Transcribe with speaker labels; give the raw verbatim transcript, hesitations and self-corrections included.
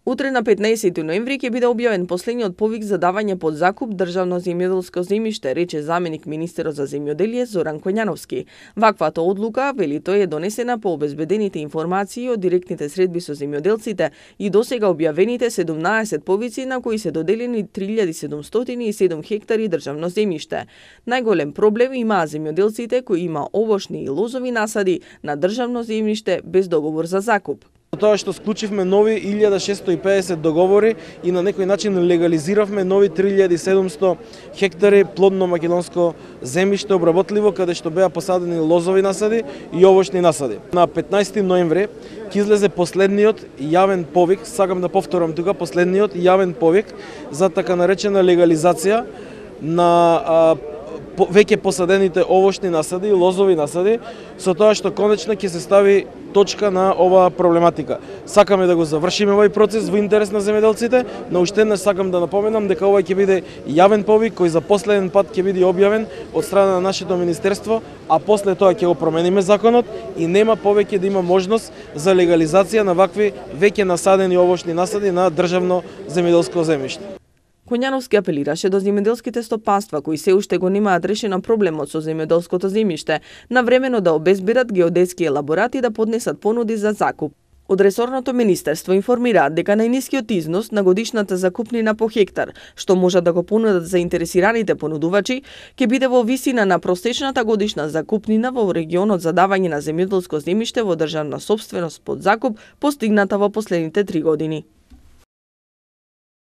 Speaker 1: Утре на петнаесети ноември ќе биде објавен последниот повик за давање под закуп државно земјоделско земјиште, рече заменик министерот за земјоделие Зоран Коњановски. Ваквата одлука, вели тој, е донесена по обезбедените информации од директните средби со земјоделците и досега објавените седумнаесет повици на кои се доделени три илјади седумстотини и седум хектари државно земјиште. Најголем проблем имаа земјоделците кои има овошни и лозови насади на државно земјиште без договор за закуп.
Speaker 2: Тоа што склучивме нови илјада шестстотини и педесет договори и на некој начин легализиравме нови три илјади и седумстотини хектари плодно македонско земјиште обработливо, каде што беа посадени лозови насади и овошни насади. На петнаесети ноември ќе излезе последниот јавен повик, сакам да повторам тука, последниот јавен повик за така наречена легализација на а, веќе посадените овошни насади и лозови насади, со тоа што конечно ќе се стави точка на оваа проблематика. Сакаме да го завршиме овој процес во интерес на земјоделците, но уште еднаш сакам да напоменам дека ова ќе биде јавен повик кој за последен пат ќе биде објавен од страна на нашето министерство, а после тоа ќе го промениме законот и нема повеќе да има можност за легализација на вакви веќе насадени овошни насади на државно земјоделско земјиште.
Speaker 1: Коњановски апелираше до земјоделските стопанства кои се уште го немаат решено проблемот со земјоделското земјиште, навремено да обезбедат геодетски елаборати и да поднесат понуди за закуп. Од ресорното министерство информираат дека најнискиот износ на годишната закупнина по хектар, што можат да го понудат заинтересираните понудувачи, ќе биде во висина на просечната годишна закупнина во регионот за давање на земјоделско земјиште во државна сопственост под закуп, постигната во последните три години.